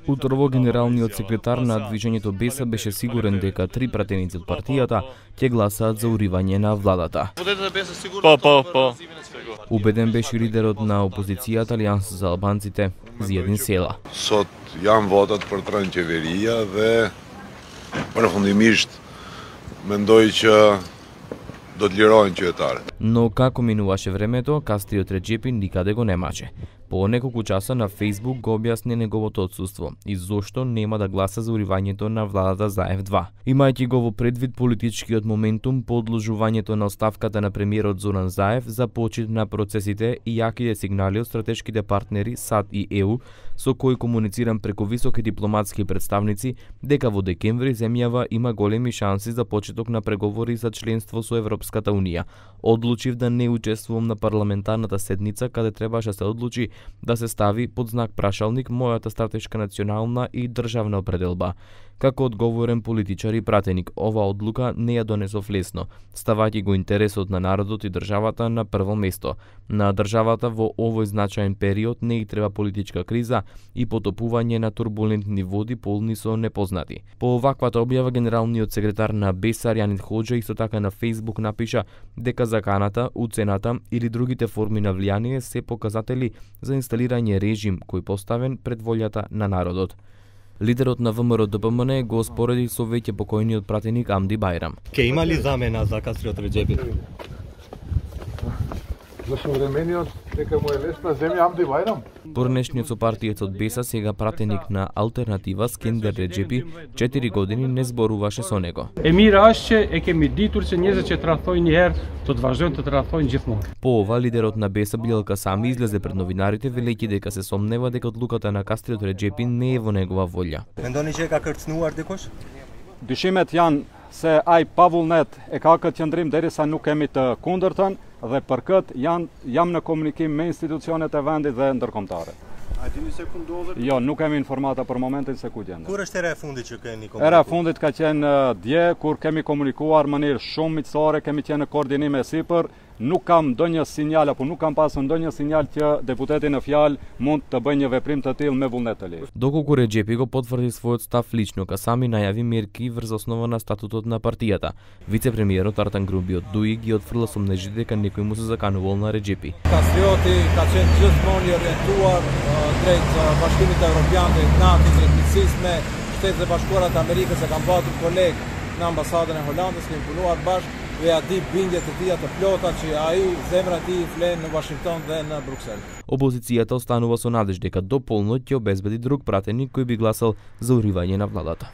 Утрово генералниот секретар на движењето Беса беше сигурен дека 3 пратеници од партијата ќе гласаат за уривање на владата. Убеден беше лидерот на опозицијата Алијанса за албанците, Зиедин Села. Sot janë votat për të rënë qeveria dhe përfundimisht mendoj që do të lirohen qytetarët. Но како минуваше времето, Кастриот Реджепи никаде го немаше. По неколку часа на Facebook го објасни неговото отсуство и зошто нема да гласа за уривањето на владата Заев-2. Имајќи го во предвид политичкиот моментум по одложувањето на оставката на премиерот Зоран Заев за почит на процесите и јаките сигнали од стратешките партнери САД и ЕУ, со кои комуницирам преку високи дипломатски представници дека во декември земјава има големи шанси за почеток на преговори за членство со Европската Унија. Одлучив да не учествувам на парламентарната седница каде требаше се одлучи да се стави под знак прашалник мојата стратешка национална и државна определба. Како одговорен политичар и пратеник, ова одлука не ја донесов лесно, ставајќи го интересот на народот и државата на прво место. На државата во овој значаен период не и треба политичка криза и потопување на турбулентни води полни со непознати. По оваквата објава генералниот секретар на Беса Јанит Хоџа исто така на Facebook напиша дека заканата, уцената или другите форми на влијание се показатели за инсталирање режим кој поставен пред волјата на народот. Лидерот на ВМРО-ДПМН го спореди со веќе покојниот пратеник Амди Бајрам. Ке има ли замена за Кастриот Реджепи? За современиот дека му е лесна земја Амди Бајрам? Порнешниот со партијата од Беса, сега пратеник на Алтернатива Скендер Реджепи, 4 години не зборуваше со него. E mira është që e kemi ditur që njerëzit që tradhtojnë një herë do të vazhdojnë të tradhtojnë gjithmonë. По ова лидерот на Беса Билел Касами излезе пред новинарите велејќи дека се сомнева дека одлуката на Кастриот Реджепи не е во негова волја. Mendoni që e ka kërcënuar dikush? Dyshimet janë se ai pavullnet e ka këtë qëndrim derisa nuk kemi të kundërtën dhe për këtë jam në komunikim me institucionet e vendit dhe ndërkombëtare. A dini se ku ndodhet? Jo, nuk kemi informata për momentin se ku gjenden. Kur është era e fundit që keni komunikuar? Era e fundit ka qenë dje kur kemi komunikuar në mënyrë shumë miqësore, kemi qenë në koordinim e sipër. Nuk kam ndonjë sinjal apo nuk kam pasur ndonjë sinjal që deputeti në fjalë mund të bëjë një veprim të tillë me vullnet të lirë. Доколку Реджепи го потврди својот став лично, Касами најави мерки врз основа на статутот на партијата. Вице-премиерот Артан Грубиот Дуи ги отфрла сомнежите дека некој му се заканувал на Реджепи. Кастриoti ka qenë gjithmonë i orientuar drejt Bashkimit Evropian, drejt NATO, drejt miqësisë me Shtetet e Bashkuara të Amerikës, e kam patur koleg në ambasadën e Holandës, kemi punuar bashkë dhe ja di bindjet e tija të plota që ai zemra e tij flen në Washington dhe në Bruksel. Опозицијата останува со надеж дека до полноќ ќе обезбеди друг пратеник кој би гласал за уривање на владата.